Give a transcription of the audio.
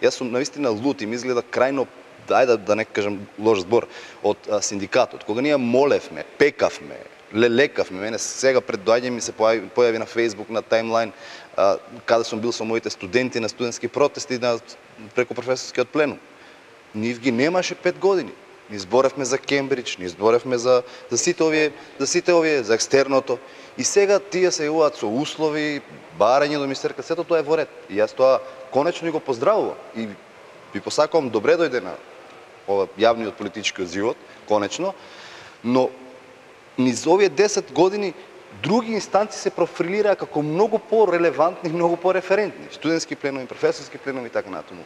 Јас сум навистина лут и ми изгледа крајно, ајде да не кажам лош збор, од синдикатот. Кога ние молевме, пекавме, лелекавме, мене сега пред доаѓање ми се појави на Facebook, на таймлайн, каде сум бил со моите студенти на студентски протести преку професорскиот пленум. Нив ги немаше 5 години. Ни зборевме за Кембридж, ни зборевме за сите овие, за екстерното. И сега тие се јавуваат со услови, барање до министерка, сето тоа е во ред. И јас тоа конечно го поздравувам. И ви посакувам добре дојде на ова јавниот политички живот, конечно, но низ овие 10 години други инстанции се профилираа како многу по-релевантни, многу по-референтни. Студентски пленуми, професорски пленуми и така натаму.